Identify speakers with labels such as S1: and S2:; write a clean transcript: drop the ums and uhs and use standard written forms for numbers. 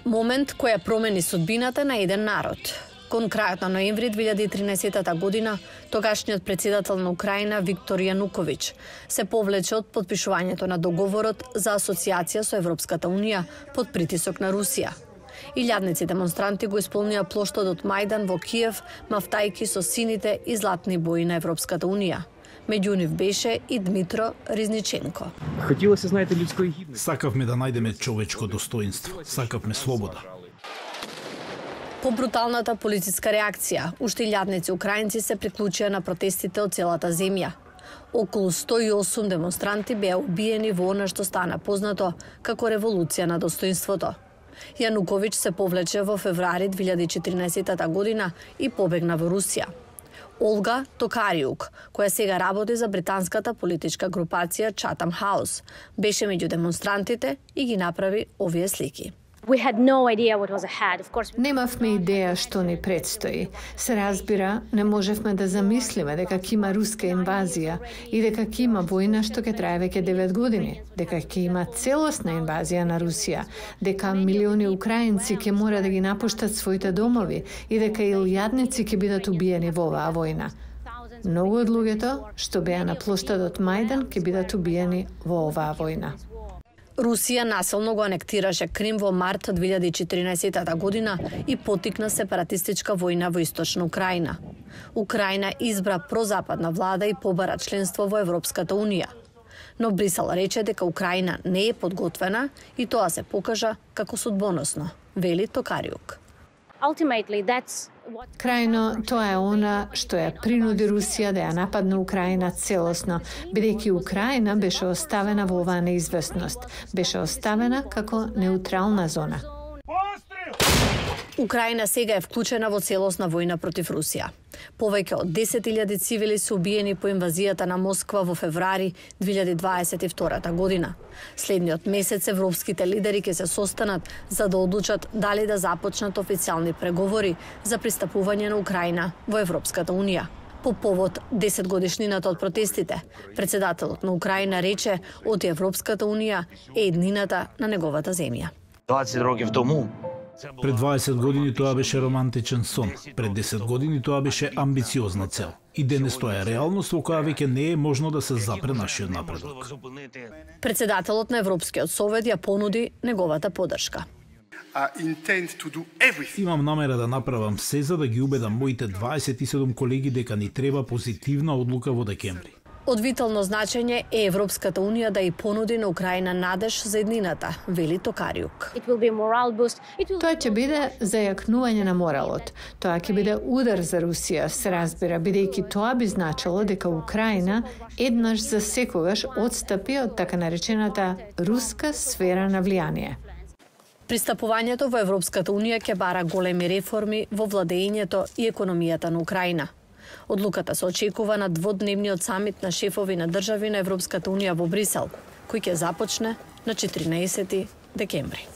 S1: Момент кој ја промени судбината на еден народ. Кон крајот на ноември 2013 година, тогашниот председател на Украина Виктор Јануковиќ се повлече од подпишувањето на договорот за асоциација со Европската Унија под притисок на Русија. Илјадници демонстранти го исполнија плоштадот Мајдан во Киев, мафтајки со сините и златни бои на Европската Унија. Меѓу нив беше и Дмитро Ризниченко.
S2: Хотіло се знајте людскої гідності.
S3: Сакавме да најдеме човечко достоинство, сакавме слобода.
S1: По бруталната полициска реакција, уште илјадници украинци се приклучија на протестите од целата земја. Околу 108 демонстранти беа убиени во она што стана познато како револуција на достоинството. Јануковиќ се повлече во февруари 2014 година и побегна во Русија. Олга Токариук, која сега работи за британската политичка групација Chatham House, беше меѓу демонстрантите и ги направи овие слики.
S4: Немавме идеја што ни предстои. Се разбира, не можевме да замислиме дека ќе има руска инвазија и дека ќе има војна што ќе трае веќе 9 години, дека ќе има целосна инвазија на Русија, дека милиони украинци ќе мора да ги напуштат своите домови и дека илјадници ќе бидат убиени во оваа војна. Многу од луѓето што беа на плоштадот Мајдан ќе бидат убиени во оваа војна.
S1: Русија насилно го анектираше Крим во март 2014 година и потикна сепаратистичка војна во источна Украина. Украина избра прозападна влада и побара членство во Европската Унија. Но Брисел рече дека Украина не е подготвена и тоа се покажа како судбоносно, вели Токариук.
S4: Крајно, тоа е она што ја принуди Русија да ја нападне Украина целосно, бидејќи Украина беше оставена во оваа неизвестност, беше оставена како неутрална зона.
S1: Украина сега е вклучена во целосна војна против Русија. Повеќе од 10.000 цивили се убиени по инвазијата на Москва во февруари 2022 година. Следниот месец европските лидери ќе се состанат за да одлучат дали да започнат официјални преговори за пристапување на Украина во Европската Унија. По повод 10 годишнината од протестите, председателот на Украина рече од Европската Унија е еднината на неговата земја.
S5: 20 років тому
S3: Пред 20 години тоа беше романтичен сон, пред 10 години тоа беше амбициозна цел. И денес тоа е реалност во која веќе не е можно да се запре нашиот напредок.
S1: Председателот на Европскиот совет ја понуди неговата поддршка.
S3: Имам намера да направам се за да ги убедам моите 27 колеги дека ни треба позитивна одлука во декември.
S1: Од витално значење е Европската Унија да ја понуди на Украина надеж за еднината, вели Токариук.
S4: Тоа ќе биде зајакнување на моралот. Тоа ќе биде удар за Русија, се разбира, бидејќи тоа би значило дека Украина еднаш за секогаш отстапи од така наречената руска сфера на влијание.
S1: Пристапувањето во Европската Унија ќе бара големи реформи во владеењето и економијата на Украина. Одлуката се очекува на дводневниот самит на шефови на држави на Европската Унија во Брисел, кој ќе започне на 14 декември.